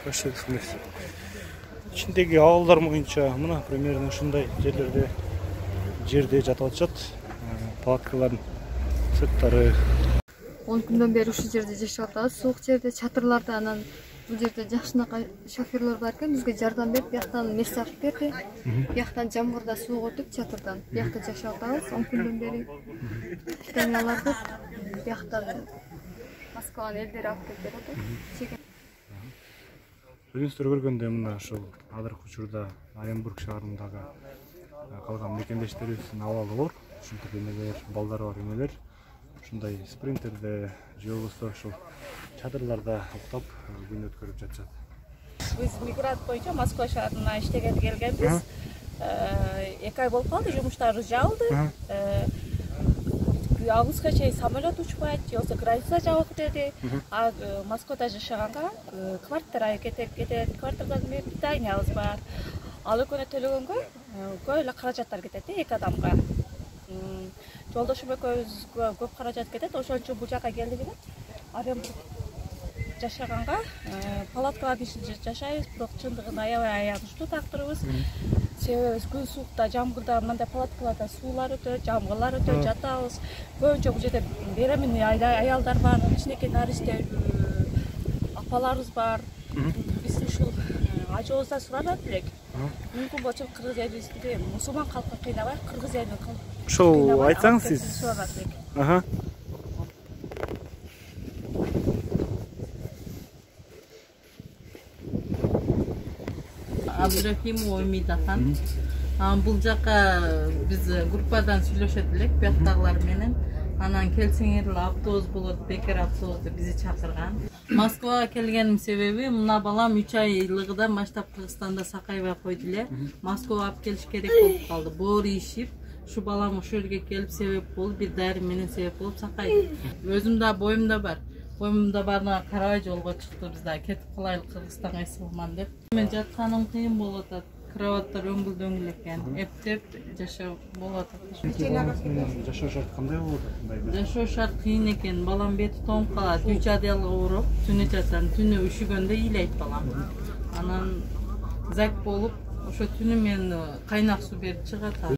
Башыңыз. İçindeki ağıllar boyunca mına примерно ушундай жерде жатып атышат. Палаткалардын сырттары. 10 күндөн бери ушул жерде жашап атабыз. Суук жерде, чатырларда, анан бул жерде жакшынакай шоферлор бар экен. Бизге жардам берип, бияктан нерсе алып берди. Бияктан жамгырда сууга өтүп, чатырдан биякта жашап атабыз 10 күндөн бери. Семьяларды бияктан Москванын элдери алып келип берет. Өзүңүздөр көргөндө мына ушул азыркы учурда Оренбург шаарындагы калган мекендештерибиздин абалы оор. Ушинтип эмелер, балдары бар эмелер. Ушундай спринтерде же болбосо ушул чатырларда уктап күн өткөрүп жатышат. Биз мигрант боюнча Москва шаарына иштегенге келгенбиз. 2 ай болуп калды, жумуштарыбыз жабылды. Августка чейин самолет учпайт, же болбосо граница жабык деди. А Москвада жашаганга квартира кетет, квартирадан питаниябыз бар. Ал экөөнө төлөгөнгө көп эле каражаттар кетет, 2 адамга. Жолдошум экөөбүз көп каражат кетет, ошон үчүн бул жака келдик эле. Оренбург жашаганга палаткалардын ичинде жашайбыз, бирок чындыгында аябай аянычтуу тактырыбыз. Себеби күн суукта, жамгырда мындай палаткаларда суулар өтөт, жамгырлар өтөт, жатабыз. Көбүнчө бул жерде беременный аялдар бар, кичинекей наристе апаларыбыз бар. Биз ушул ажообуздан сурап элек. Мүмкүн болчу кыргыз элибизде мусулман калкы кыйнабай, кыргыз элин ошол айтсаңыз сиз. Аха. Абдрахимова Умидахан. Бул жака биз группадан сүйлөшөт элек, бияктагылар менен. Анан келсеңер эле автобус болот, бекер автобус деп бизди чакырган. Москвага келгеним себеби мына балам 3 айлыгыдан баштап Кыргызстанда сакайбай койду эле. Москвага алып келиш керек болуп калды. Боору ишип, ушу балам ошол жерге келип себеп болуп, бир дайыр менен себеп болуп сакайды. Өзүм да боюмда бар. Боюмда барына карабай жолго чыкты, биз да кетип калайлы Кыргызстанга эсилман деп. Мен жатканым кыйын болуп атат. Кроваттар өңгүл-дөңгүл экен. Эптеп жашоо болуп атат. Жашоо шарт кандай болот? Жашоо шарт кыйын экен. Балам бети тонуп калат, 3 одеялга уруп, түнү жатам. Түнү үшүгөндө ыйлайт балам. Анан зак болуп, ошо түнү мен кайнак суу берип чыгат.